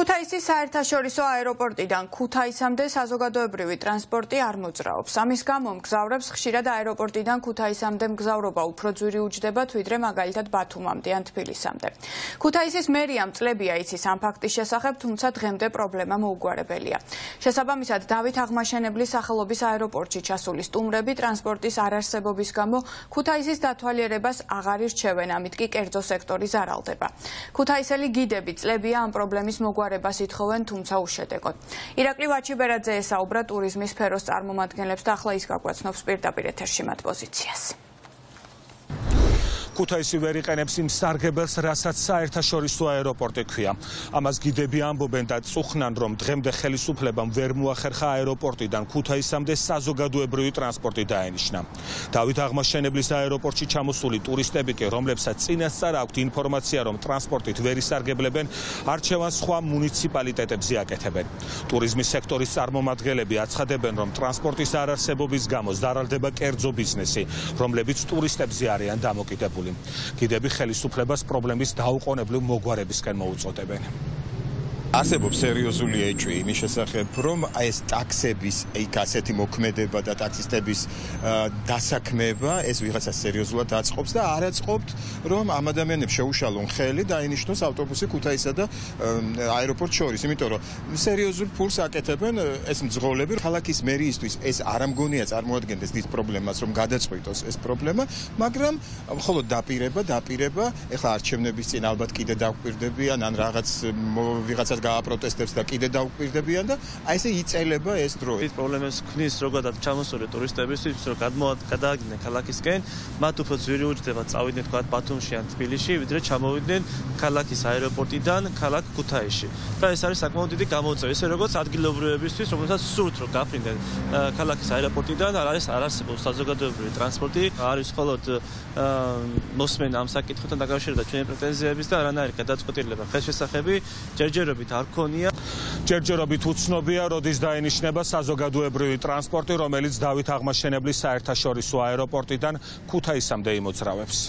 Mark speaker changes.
Speaker 1: ქუთაისის საერთაშორისო აეროპორტიდან ქუთაისამდე საზოგადოებრივი ტრანსპორტი არ მოძრაობს. ამის გამო მგზავრებს ხშირად აეროპორტიდან ქუთაისამდე მგზავრობა უფრო ძვირი უჯდებათ, ვიდრე მაგალითად ბათუმამდე ან თბილისამდე. ქუთაისის მერიამ წლებია იცის ამ ფაქტის შესახებ, თუმცა დღემდე პრობლემა მოუგვარებელია. შესაბამისად, დავით აღმაშენებლის სახელობის აეროპორტში ჩასული სტუმრები ტრანსპორტის არარსებობის გამო ქუთაისის დათვალიერებას აღარ ირჩევენ, ამით კი კერძო სექტორი ზარალდება. ქუთაისელი გიდები წლებია ამ პრობლემის მოგვარებას ითხოვენ, თუმცა უშედეგოდ. ირაკლი ვაჩიბერაძე ესაუბრა ტურიზმის სფეროს წარმომადგენლებს და ახლა ის გაგვაცნობს პირდაპირ ეთერში მათ პოზიციას.
Speaker 2: ქუთაისი ვერ იყენებს იმ სარგებელს, რასაც საერთაშორისო აეროპორტი ქვია. ამას გიდები ამბობენ და წუხნან, რომ დღემდე ხელისუფლებამ ვერ მოახერხა აეროპორტიდან ქუთაისამდე საზოგადოებრივი ტრანსპორტი დაენიშნა. დავით აღმაშენებლის აეროპორტში ჩამოსული ტურისტები კი, რომლებსაც წინასწარ აქვთ ინფორმაცია, რომ ტრანსპორტით ვერ ისარგებლებენ, არჩევანს სხვა მუნიციპალიტეტებზე აკეთებენ. ტურიზმის სექტორის წარმომადგენლები აცხადებენ, რომ ტრანსპორტის არარსებობის გამო ზარალდება კერძო ბიზნესი, რომლებიც ტურისტებზე არიან დამოკიდებული. გიდები ხელისუფლებას პრობლემის დაუყოვნებლივ მოგვარებისკენ მოუწოდებენ.
Speaker 3: არსებობს სერიოზული ეჭვი იმის შესახებ, რომ ეს ტაქსების ასეთი მოქმედება და ტაქსისტების დასაქმება ეს ვიღაცა სერიოზულად აწყობს და არ აწყობთ, რომ ამ ადამიანებს შეუშალონ ხელი და დაინიშნოს ავტობუსი ქუთაისსა და აეროპორტ შორის, იმიტომ რომ სერიოზულ ფულს აკეთებენ ეს მძღოლები. ქალაქის მერიისთვის ეს არ ამგონია წარმოადგენდეს დიდ პრობლემას, რომ გადაწყვიტოს ეს პრობლემა, მაგრამ მხოლოდ დაპირება, ეხლა არჩევნების წინ ალბათ კიდე დაგვირდებიან ან ვიღაცა გააპროტესტებს და კიდე დაუკვირდებიან და აი ესე იწელება ეს დრო.
Speaker 4: ის პრობლემებს ქმნის ზოგადად ჩამოსული ტურისტებისთვის, რომ გადააგდნენ ქალაქისკენ, მათ უფრო ძვირი უჯდება წავიდნენ თქვათ ბათუმში ან თბილისში, ვიდრე ჩამოვიდნენ ქალაქის აეროპორტიდან ქალაქ ქუთაისში. და ეს არის საკმაოდ დიდი გამოწვევა, ისე როგორც ადგილობრივებისთვის, რომელსაც სურთ რომ გაფრინდნენ ქალაქის აეროპორტიდან, არ არსებობს საზოგადოებრივი ტრანსპორტი, არის მხოლოდ მოსმენა ამ საკითხთან დაკავშირებით ჩვენი პრეტენზიების და არანაირი გადაწყვეტილება ხელშესახები ჯერჯერობით არ ქონია.
Speaker 2: ჯერჯერობით უცნობია, როდის დაენიშნება საზოგადოებრივი ტრანსპორტი, რომელიც დავით აღმაშენებლის საერთაშორისო აეროპორტიდან ქუთაისამდე იმოძრავებს.